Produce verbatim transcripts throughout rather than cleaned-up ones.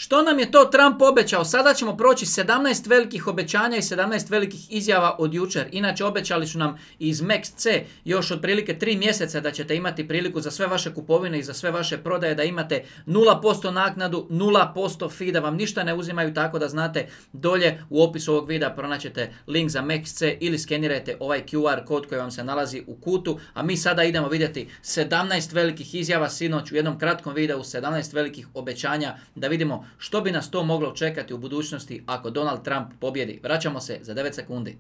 Što nam je to Trump obećao? Sada ćemo proći sedamnaest velikih obećanja i sedamnaest velikih izjava od jučer. Inače, obećali su nam iz Max C još otprilike tri mjeseca da ćete imati priliku za sve vaše kupovine i za sve vaše prodaje da imate nula posto naknadu, nula posto fee, da vam ništa ne uzimaju, tako da znate, dolje u opisu ovog videa pronaćete link za Max C ili skenirajte ovaj Q R kod koji vam se nalazi u kutu. A mi sada idemo vidjeti sedamnaest velikih izjava sinoć u jednom kratkom videu, sedamnaest velikih obećanja, da vidimo što bi nas to moglo čekati u budućnosti ako Donald Trump pobjedi. Vraćamo se za devet sekundi.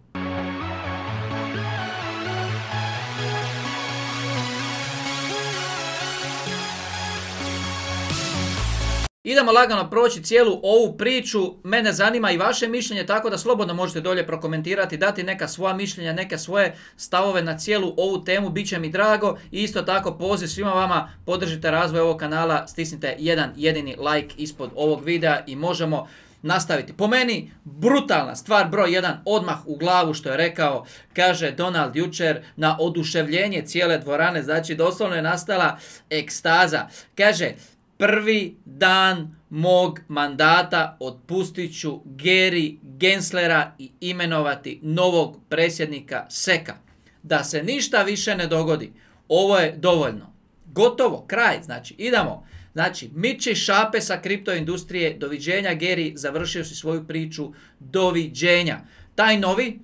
Idemo lagano proći cijelu ovu priču. Mene zanima i vaše mišljenje, tako da slobodno možete dolje prokomentirati, dati neka svoja mišljenja, neke svoje stavove na cijelu ovu temu. Biće mi drago i isto tako poziv svima vama, podržite razvoj ovog kanala, stisnite jedan jedini like ispod ovog videa i možemo nastaviti. Po meni, brutalna stvar broj jedan, odmah u glavu što je rekao, kaže Donald jučer na oduševljenje cijele dvorane, znači doslovno je nastala ekstaza. Kaže, prvi dan mog mandata otpustit ću Gary Genslera i imenovati novog predsjednika seka. Da se ništa više ne dogodi. Ovo je dovoljno. Gotovo, kraj. Znači, idemo. Znači, miči šape sa kripto industrije. Doviđenja, Gary, završio si svoju priču. Doviđenja. Taj novi,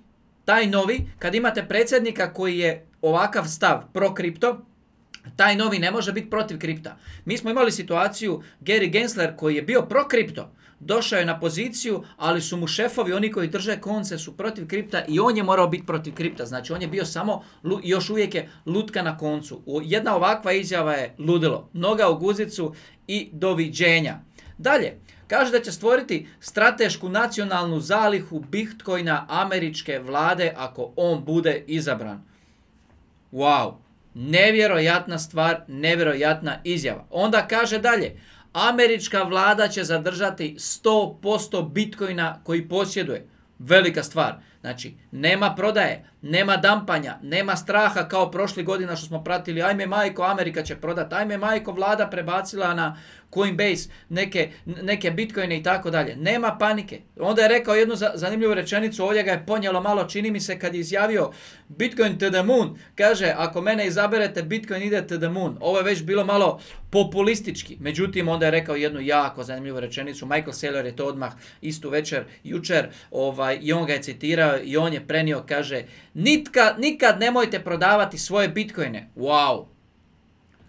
taj novi, kad imate predsjednika koji je ovakav stav pro kripto, taj novi ne može biti protiv kripta. Mi smo imali situaciju, Gary Gensler koji je bio pro kripto, došao je na poziciju, ali su mu šefovi, oni koji drže konce, su protiv kripta i on je morao biti protiv kripta. Znači on je bio samo, još uvijek je lutka na koncu. Jedna ovakva izjava je ludilo. Noga u guzicu i doviđenja. Dalje, kaže da će stvoriti stratešku nacionalnu zalihu Bitcoina američke vlade ako on bude izabran. Wow. Nevjerojatna stvar, nevjerojatna izjava. Onda kaže dalje, američka vlada će zadržati sto posto Bitcoina koji posjeduje. Velika stvar. Znači, nema prodaje, nema dampanja, nema straha kao prošli godina što smo pratili, ajme majko, Amerika će prodati, ajme majko, vlada prebacila na Coinbase neke, neke bitcoine i tako dalje. Nema panike. Onda je rekao jednu zanimljivu rečenicu, ovdje ga je ponijelo malo, čini mi se kad je izjavio Bitcoin to the moon. Kaže, ako mene izaberete, Bitcoin ide to the moon. Ovo je već bilo malo populistički. Međutim, onda je rekao jednu jako zanimljivu rečenicu. Michael Saylor je to odmah istu večer, jučer, ovaj, i on ga je citirao i on je prenio, kaže, Nitka, nikad nemojte prodavati svoje bitcoine. Wow.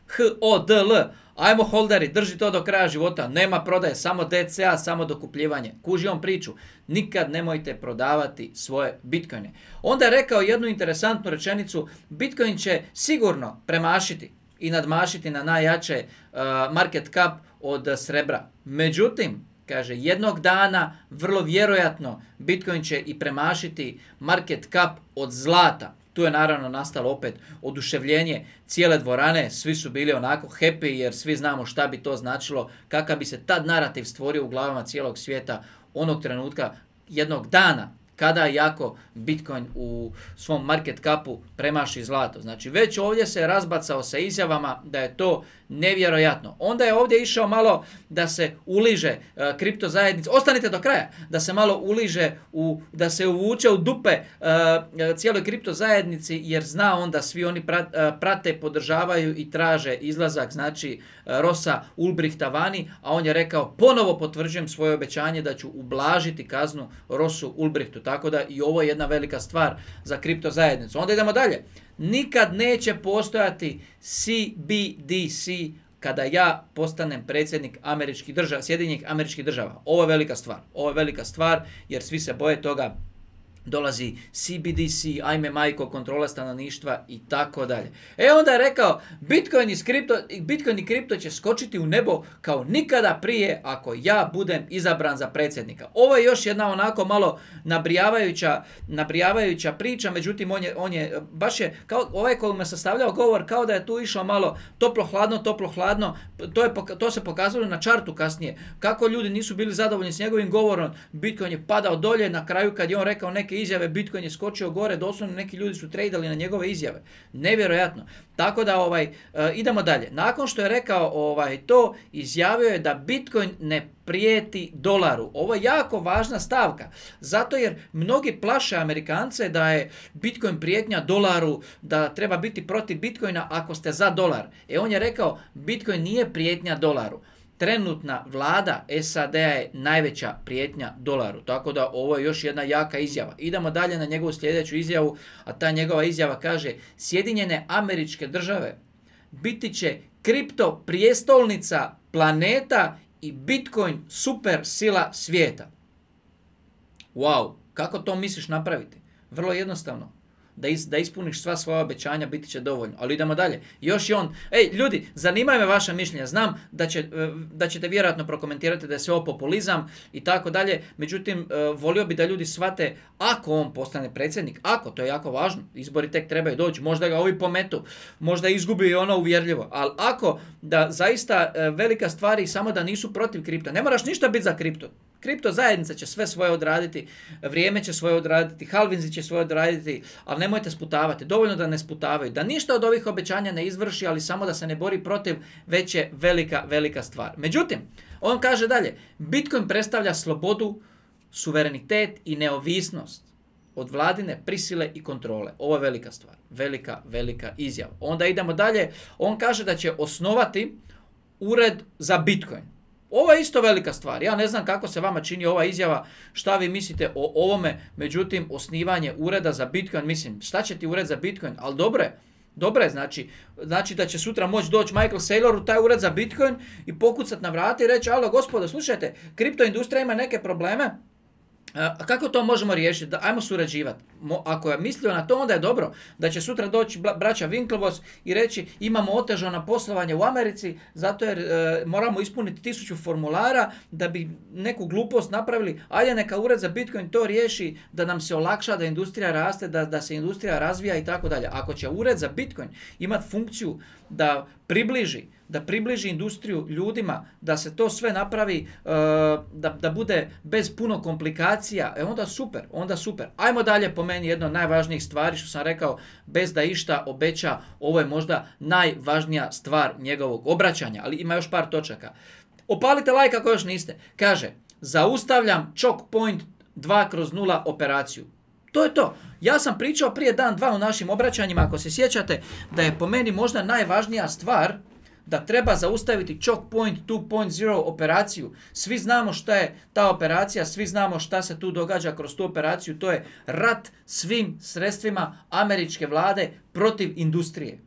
H O D L. Ajmo holderi, drži to do kraja života. Nema prodaje, samo D C A, samo dokupljivanje. Kuži on priču. Nikad nemojte prodavati svoje bitcoine. Onda je rekao jednu interesantnu rečenicu. Bitcoin će sigurno premašiti i nadmašiti na najjače uh, market cap od srebra. Međutim, kaže, jednog dana, vrlo vjerojatno, Bitcoin će i premašiti market cap od zlata. Tu je naravno nastalo opet oduševljenje cijele dvorane, svi su bili onako happy jer svi znamo šta bi to značilo, kakav bi se tad narativ stvorio u glavama cijelog svijeta onog trenutka, jednog dana, kada jako Bitcoin u svom market capu premaši zlato. Znači već ovdje se razbacao sa izjavama da je to nevjerojatno. Onda je ovdje išao malo da se uliže uh, kripto zajednice, ostanite do kraja, da se malo uliže, u, da se uvuče u dupe uh, cijeloj kripto zajednici jer zna on da svi oni prat, uh, prate, podržavaju i traže izlazak, znači uh, Rossa Ulbrichta vani, a on je rekao ponovo potvrđujem svoje obećanje da ću ublažiti kaznu Rossu Ulbrichtu. Tako da i ovo je jedna velika stvar za kripto zajednicu. Onda idemo dalje. Nikad neće postojati C B D C kada ja postanem predsjednik američkih država, Sjedinjenih Američkih Država. Ovo je velika stvar. Ovo je velika stvar jer svi se boje toga. Dolazi C B D C, ajme majko, kontrola stanovništva i tako dalje. E onda je rekao, Bitcoin, iz kripto, Bitcoin i kripto će skočiti u nebo kao nikada prije ako ja budem izabran za predsjednika. Ovo je još jedna onako malo nabrijavajuća, nabrijavajuća priča, međutim on je, on je baš je, kao ovaj koji me sastavljao govor, kao da je tu išao malo toplo-hladno, toplo-hladno, to, je, to se pokazalo na čartu kasnije. Kako ljudi nisu bili zadovoljni s njegovim govorom, Bitcoin je padao dolje, na kraju kad je on rekao neke neke izjave, Bitcoin je skočio gore, doslovno neki ljudi su tradali na njegove izjave. Nevjerojatno. Tako da ovaj, uh, idemo dalje. Nakon što je rekao ovaj, to, izjavio je da Bitcoin ne prijeti dolaru. Ovo je jako važna stavka. Zato jer mnogi plaše Amerikance da je Bitcoin prijetnja dolaru, da treba biti protiv Bitcoina ako ste za dolar. E on je rekao, Bitcoin nije prijetnja dolaru. Trenutna vlada S A D-a je najveća prijetnja dolaru. Tako da ovo je još jedna jaka izjava. Idemo dalje na njegovu sljedeću izjavu, a ta njegova izjava kaže Sjedinjene Američke Države biti će kripto prijestolnica planeta i Bitcoin super sila svijeta. Wow, kako to misliš napraviti? Vrlo jednostavno. Da, is, da ispuniš sva svoja obećanja, biti će dovoljno. Ali idemo dalje. Još je on. Ej, ljudi, zanimaju me vaša mišljenja. Znam da, će, da ćete vjerojatno prokomentirati da je sve ovo populizam i tako dalje. Međutim, volio bi da ljudi shvate ako on postane predsjednik, ako, to je jako važno, izbori tek trebaju doći, možda ga ovi pometu, možda izgubi ono uvjerljivo. Ali ako da zaista velika stvar i samo da nisu protiv kripta, ne moraš ništa biti za kripto. Kripto zajednica će sve svoje odraditi, vrijeme će svoje odraditi, halvinzi će svoje odraditi, ali nemojte sputavati. Dovoljno da ne sputavaju. Da ništa od ovih obećanja ne izvrši, ali samo da se ne bori protiv, već je velika, velika stvar. Međutim, on kaže dalje, Bitcoin predstavlja slobodu, suverenitet i neovisnost od vladine prisile i kontrole. Ovo je velika stvar. Velika, velika izjava. Onda idemo dalje. On kaže da će osnovati ured za Bitcoin. Ovo je isto velika stvar. Ja ne znam kako se vama čini ova izjava, šta vi mislite o ovome, međutim, osnivanje ureda za Bitcoin, mislim, šta će ti ured za Bitcoin, ali dobro je, dobro je, znači, znači da će sutra moći doći Michael Saylor u taj ured za Bitcoin i pokucati na vrata i reći, alo gospodo, slušajte, kriptoindustrija ima neke probleme, a kako to možemo riješiti? Da, ajmo surađivati. Mo, ako je mislio na to, onda je dobro da će sutra doći braća Winklevoss i reći imamo otežano poslovanje u Americi zato jer e, moramo ispuniti tisuću formulara da bi neku glupost napravili. Ajde neka ured za Bitcoin to riješi da nam se olakša, da industrija raste, da, da se industrija razvija i tako dalje. Ako će ured za Bitcoin imati funkciju da približi da približi industriju ljudima, da se to sve napravi, uh, da, da bude bez puno komplikacija, e onda super, onda super. Ajmo dalje, po meni jedna od najvažnijih stvari, što sam rekao, bez da išta obeća, ovo je možda najvažnija stvar njegovog obraćanja, ali ima još par točaka. Opalite like ako još niste. Kaže, zaustavljam choke point dva kroz nula operaciju. To je to. Ja sam pričao prije dan, dva u našim obraćanjima, ako se sjećate, da je po meni možda najvažnija stvar da treba zaustaviti choke point dva nula operaciju. Svi znamo šta je ta operacija, svi znamo šta se tu događa kroz tu operaciju. To je rat svim sredstvima američke vlade protiv industrije.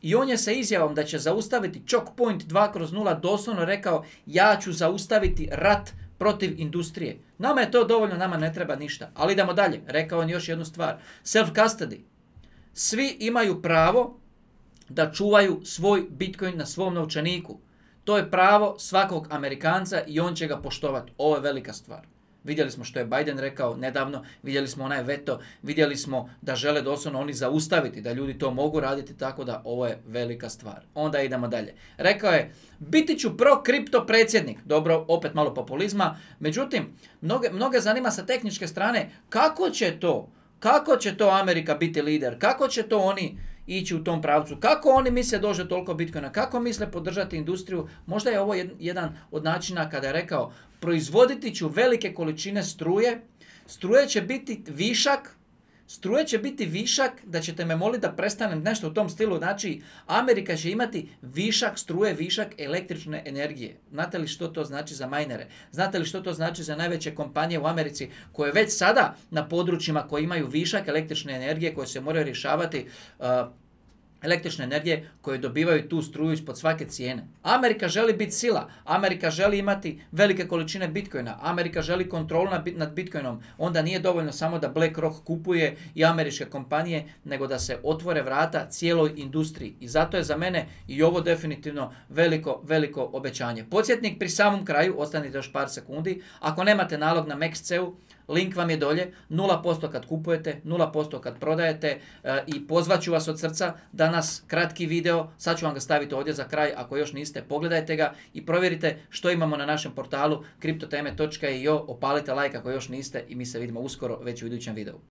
I on je sa izjavom da će zaustaviti choke point dva kroz nula doslovno rekao ja ću zaustaviti rat protiv industrije. Nama je to dovoljno, nama ne treba ništa. Ali idemo dalje. Rekao on još jednu stvar. Self-custody. Svi imaju pravo da čuvaju svoj Bitcoin na svom novčaniku. To je pravo svakog Amerikanca i on će ga poštovati. Ovo je velika stvar. Vidjeli smo što je Biden rekao nedavno, vidjeli smo onaj veto, vidjeli smo da žele doslovno oni zaustaviti, da ljudi to mogu raditi, tako da ovo je velika stvar. Onda idemo dalje. Rekao je, biti ću pro-kripto predsjednik. Dobro, opet malo populizma. Međutim, mnoge, mnoge zanima sa tehničke strane kako će to, kako će to Amerika biti lider, kako će to oni ići u tom pravcu, kako oni misle dođe toliko Bitcoina, kako misle podržati industriju. Možda je ovo jedan od načina kada je rekao proizvoditi ću velike količine struje, struje će biti višak, struje će biti višak da ćete me moliti da prestanem nešto u tom stilu. Znači, Amerika će imati višak struje, višak električne energije. Znate li što to znači za majnere? Znate li što to znači za najveće kompanije u Americi koje već sada na područjima koji imaju višak električne energije koje se moraju rješavati uh, električne energije koje dobivaju tu struju ispod svake cijene. Amerika želi biti sila. Amerika želi imati velike količine Bitcoina. Amerika želi kontrolu nad Bitcoinom. Onda nije dovoljno samo da BlackRock kupuje i američke kompanije, nego da se otvore vrata cijeloj industriji. I zato je za mene i ovo definitivno veliko, veliko obećanje. Podsjetnik pri samom kraju, ostanite još par sekundi. Ako nemate nalog na M E X C E U, link vam je dolje, nula posto kad kupujete, nula posto kad prodajete e, i pozvat ću vas od srca. Danas kratki video, sad ću vam ga staviti ovdje za kraj, ako još niste, pogledajte ga i provjerite što imamo na našem portalu kriptoteme točka io, opalite like ako još niste i mi se vidimo uskoro već u idućem videu.